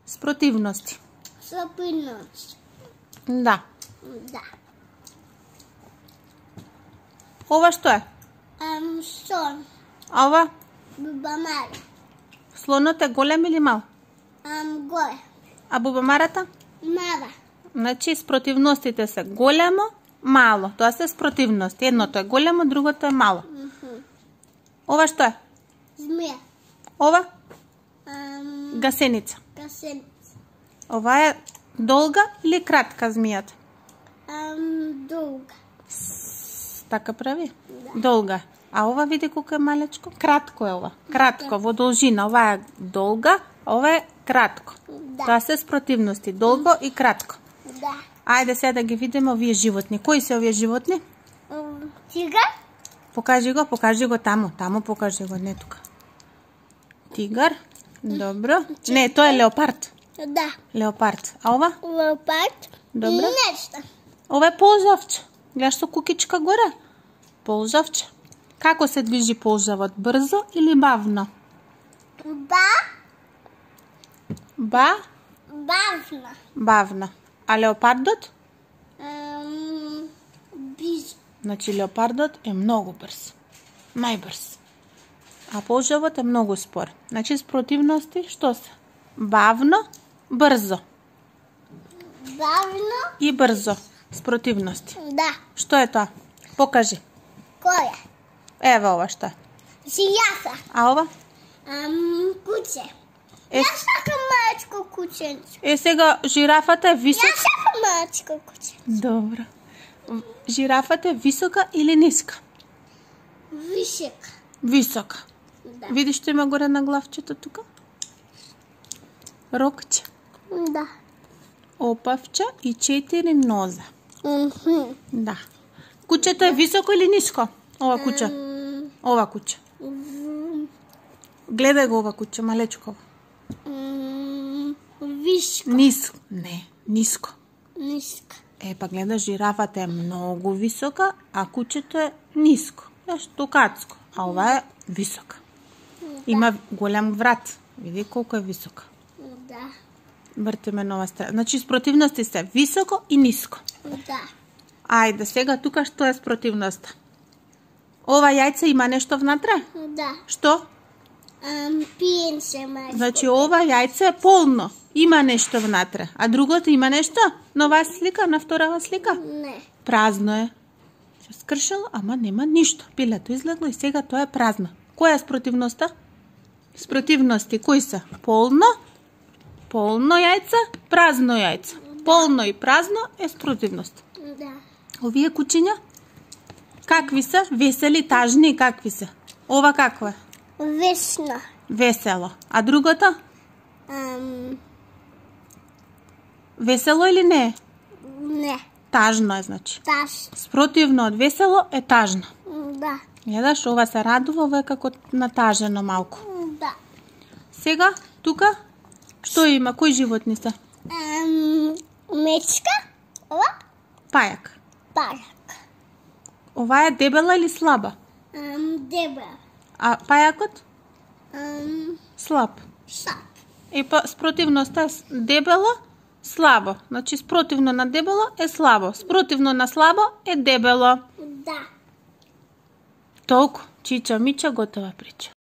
Спротивности. Спротивност. Да. Да. Ова што е? Слон. А ова? Бубамара. Слонот е голем или мал? Горе. А бубамарата? Мала. Значи спротивностите се големо, мало. Тоа се спротивности. Едното е големо, другото е мало. Ова што е? Змија. Ова? Гасеница. Гасеница. Ова е долга или кратка змијата? Долга. Така прави? Да. Долга. А ова види колку е малечко? Кратко е ова. Кратко, во должина. Ова е долга, а ова е кратко. Да. Тоа се спротивности. Долго и кратко. Да. Ајде сега да ги видиме овие животни. Кои се овие животни? Тигар. Покажи го таму. Таму покажи го, не тука. Тигар. Добро. Не, тоа е леопард. Да. Леопард. А ова? Леопард. Добро. Нешто. Ова е ползавче. Гледаш со кукичка горе? Ползавче. Како се движи ползавот? Брзо или бавно? Бавно. Бавно. А леопардот? Бизо. Значи леопардот е многу брз. Најбрз. А ползавот е многу спор. Значи спротивности што се? Бавно, брзо. Бавно. И брзо. Спротивности. Да. Што е тоа? Покажи. Која? Ева ова што е. Жијафа. А ова? Куче. Е, Јас сакам малечко кученце. сега жирафата е висока. Јас сакам малечко куче. Добро. Жирафата е висока или ниска? Висока. Висока. Да. Видиш што има горе на главчето тука? Рокче, Да. опавче и 4 ноза. Да. Кучето е високо или ниско? Ова куче. Ова куче. Гледај го ова куче, малечко. Високо. Ниско. Не, ниско. Ниска. Па гледаш, жирафата е многу висока, а кучето е ниско. Знаеш, токацко. А ова е висока. Има голем врат. Види колку е висока. Да. Вртиме на ова страна. Значи спротивности се високо и ниско. Да. Ајде, сега тука што е спротивноста? Ова јајце има нешто внатре? Да. Што? Пиенце мајко. Значи ова јајце е полно. Има нешто внатре. А другото има нешто? На оваа слика, на вторава слика? Не. Празно е. Се скршало, ама нема ништо. Пилето излегло и сега тоа е празно. Која е спротивноста? Спротивности кои се? Полно, полно јајце, празно јајце. Полно и празно е спротивност. Да. Овие кучиња? Какви се? Весели, тажни, какви се? Ова какво е? Весно. Весело. А другото? Весело или не? Не. Тажно е, значи. Таш. Спротивно од весело е тажно. Да. Гледаш, ова се радува, ова е како натажено малку. Да. Сега, тука, што има? Кои животни се? Мечка. Ова? Пајак. Пајак. Ова е дебела или слаба? Дебел. А пајакот? Слаб. Сап. И спротивноста е дебело, слабо. Значи, спротивно на дебело е слабо. Спротивно на слабо е дебело. Да. Толку. Чича, мича, готова прича.